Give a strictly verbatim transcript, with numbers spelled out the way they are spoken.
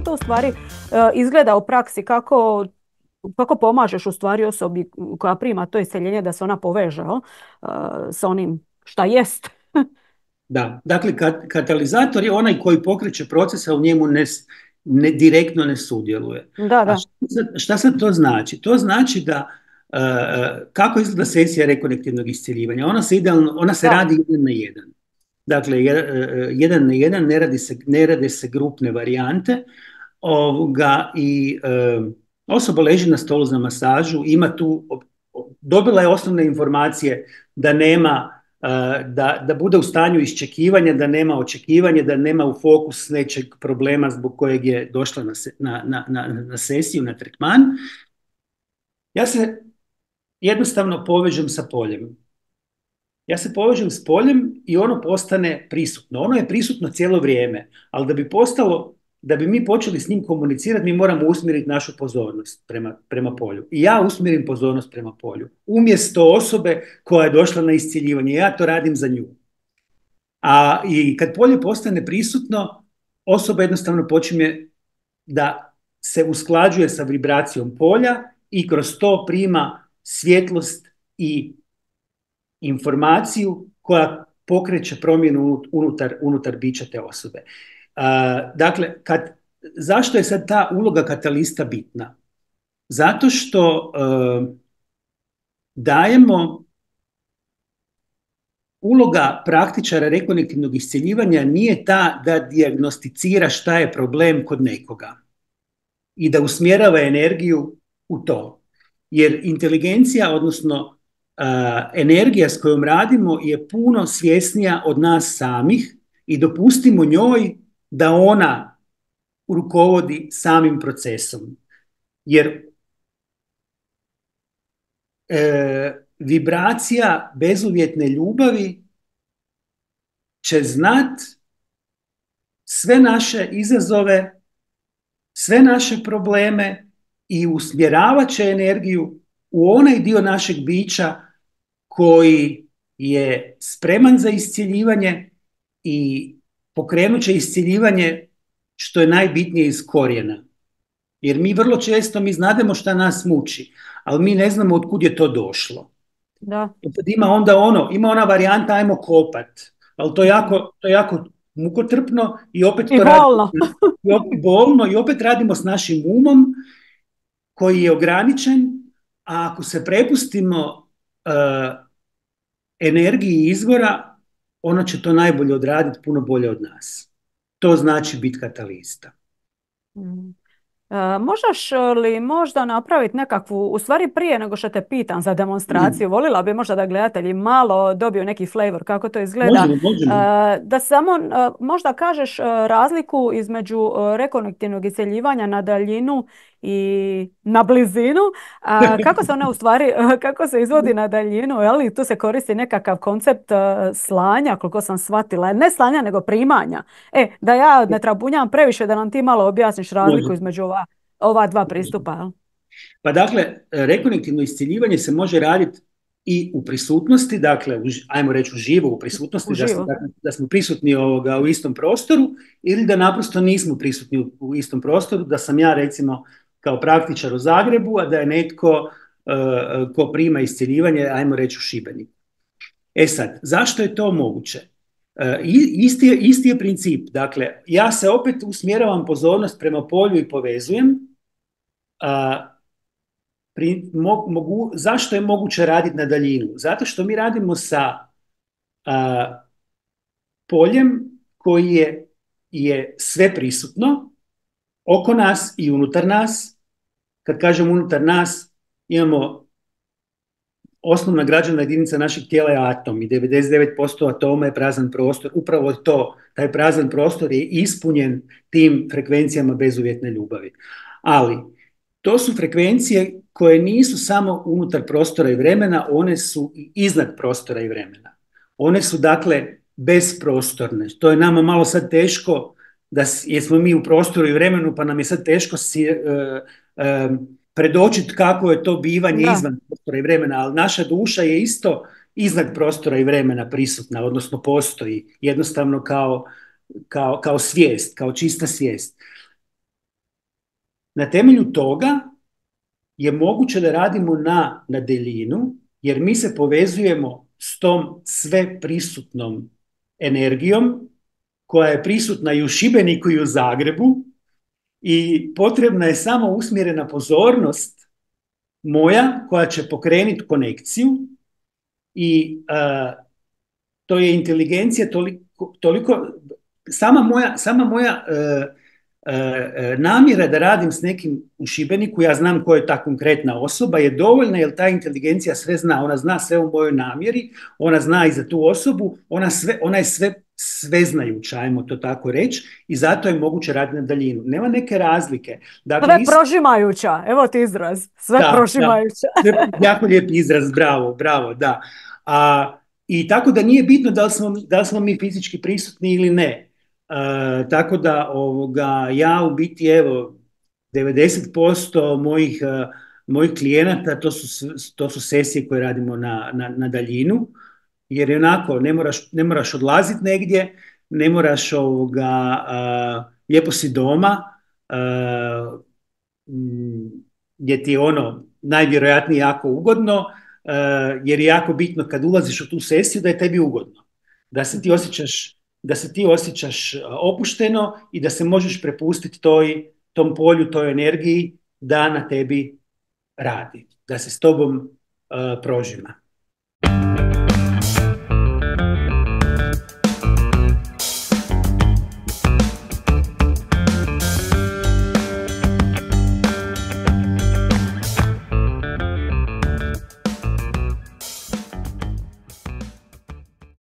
to u stvari uh, izgleda u praksi, kako, kako pomažeš u stvari osobi koja prima to iseljenje da se ona poveže uh, sa onim šta jest? Da, dakle, kat, katalizator je onaj koji pokreće proces, a u njemu ne, ne, direktno ne sudjeluje. Da, A da. šta, sad- šta sad to znači? To znači da uh, kako izgleda sesija rekonektivnog iscjeljivanja? Ona se idealno, ona se Da. radi jedan na jedan. Dakle, je- uh, jedan na jedan, ne radi se, ne rade se grupne varijante, ovoga, i uh, osoba leži na stolu za masažu, ima tu, dobila je osnovne informacije da nema da, da bude u stanju iščekivanja, da nema očekivanja, da nema u fokus nečeg problema zbog kojeg je došla na, se, na, na, na, na sesiju, na tretman. Ja se jednostavno povežem sa poljem. Ja se povežem s poljem i ono postane prisutno. Ono je prisutno cijelo vrijeme, ali da bi postalo, da bi mi počeli s njim komunicirati, mi moramo usmjeriti našu pozornost prema, prema polju. I ja usmjerim pozornost prema polju. Umjesto osobe koja je došla na iscjeljivanje, ja to radim za nju. A i kad polje postane prisutno, osoba jednostavno počinje da se usklađuje sa vibracijom polja i kroz to prima svjetlost i informaciju koja pokreće promjenu unutar, unutar bića te osobe. Uh, dakle, kad, zašto je sad ta uloga katalista bitna? Zato što uh, dajemo uloga praktičara rekonektivnog iscjeljivanja nije ta da dijagnosticira šta je problem kod nekoga i da usmjerava energiju u to. Jer inteligencija, odnosno uh, energija s kojom radimo je puno svjesnija od nas samih i dopustimo njoj da ona rukovodi samim procesom. Jer e, vibracija bezuvjetne ljubavi će znat sve naše izazove, sve naše probleme i usmjeravat će energiju u onaj dio našeg bića koji je spreman za iscjeljivanje i pokrenut će iscjeljivanje što je najbitnije iz korijena. Jer mi vrlo često, mi znademo šta nas muči, ali mi ne znamo od kud je to došlo. Da. Sad ima onda ono, ima ona varijanta ajmo kopat, ali to je jako, to je jako mukotrpno i opet I to bolno. radimo, i opet bolno i opet radimo s našim umom koji je ograničen, a ako se prepustimo uh, energiji izvora, ona će to najbolje odraditi, puno bolje od nas. To znači biti katalista. Mm. E, možeš li možda napraviti nekakvu, u stvari prije nego što te pitam za demonstraciju, volila bi možda da gledatelji malo dobiju neki flavor kako to izgleda, Možemo, možemo. E, da samo e, možda kažeš e, razliku između e, rekonektivnog iscjeljivanja na daljinu i na blizinu, a kako se ona u stvari, e, kako se izvodi na daljinu, je li tu se koristi nekakav koncept e, slanja, koliko sam shvatila, ne slanja nego primanja. E, da ja ne trabunjam previše, da nam ti malo objasniš razliku Može. između ova ova dva pristupa. Jel? Pa dakle, rekonektivno iscjeljivanje se može raditi i u prisutnosti, dakle, u, ajmo reći uživo u prisutnosti, da, smo, da smo prisutni ovoga u istom prostoru, ili da naprosto nismo prisutni u, u istom prostoru, da sam ja recimo kao praktičar u Zagrebu, a da je netko uh, ko prima iscjeljivanje, ajmo reći u Šibeniku. E sad, zašto je to moguće? Uh, isti, je, isti je princip, dakle, ja se opet usmjeravam pozornost prema polju i povezujem. Uh, Pri, mo, mogu, zašto je moguće raditi na daljinu? Zato što mi radimo sa a, poljem koji je, je sve prisutno oko nas i unutar nas. Kad kažem unutar nas, imamo osnovna građevna jedinica našeg tijela je atom i devedeset devet posto atoma je prazan prostor. Upravo to, taj prazan prostor je ispunjen tim frekvencijama bezuvjetne ljubavi. Ali to su frekvencije koje nisu samo unutar prostora i vremena, one su i iznad prostora i vremena. One su dakle bezprostorne. To je nama malo sad teško, da, jer smo mi u prostoru i vremenu, pa nam je sad teško si, uh, uh, predočiti kako je to bivanje da. Izvan prostora i vremena, ali naša duša je isto iznad prostora i vremena prisutna, odnosno postoji jednostavno kao, kao, kao svijest, kao čista svijest. Na temelju toga je moguće da radimo na, na daljinu, jer mi se povezujemo s tom sve prisutnom energijom koja je prisutna i u Šibeniku i u Zagrebu i potrebna je samo usmjerena pozornost moja koja će pokrenuti konekciju i uh, to je inteligencija toliko, toliko sama moja, sama moja uh, uh, namjera da radim s nekim u Šibeniku, ja znam ko je ta konkretna osoba, je dovoljna jer ta inteligencija sve zna, ona zna sve u mojoj namjeri, ona zna i za tu osobu, ona, sve, ona je sve sveznajuća, ajmo to tako reći, i zato je moguće raditi na daljinu. Nema neke razlike. Dakle, sve isto... prožimajuća, evo ti izraz, sve da, prožimajuća. Da, jako lijep izraz, bravo, bravo, da. A, I tako da nije bitno da li smo, da li smo mi fizički prisutni ili ne. A, tako da ovoga, ja u biti, evo, devedeset posto mojih, a, mojih klijenata, to su, to su sesije koje radimo na, na, na daljinu, jer je onako, ne moraš, ne moraš odlaziti negdje, ne moraš ovoga, a, lijepo si doma, a, gdje ti je ono najvjerojatnije jako ugodno, uh, jer je jako bitno kad ulaziš u tu sesiju da je tebi ugodno, da se ti osjećaš, da se ti osjećaš opušteno i da se možeš prepustiti toj, tom polju, toj energiji da na tebi radi, da se s tobom uh, prožima.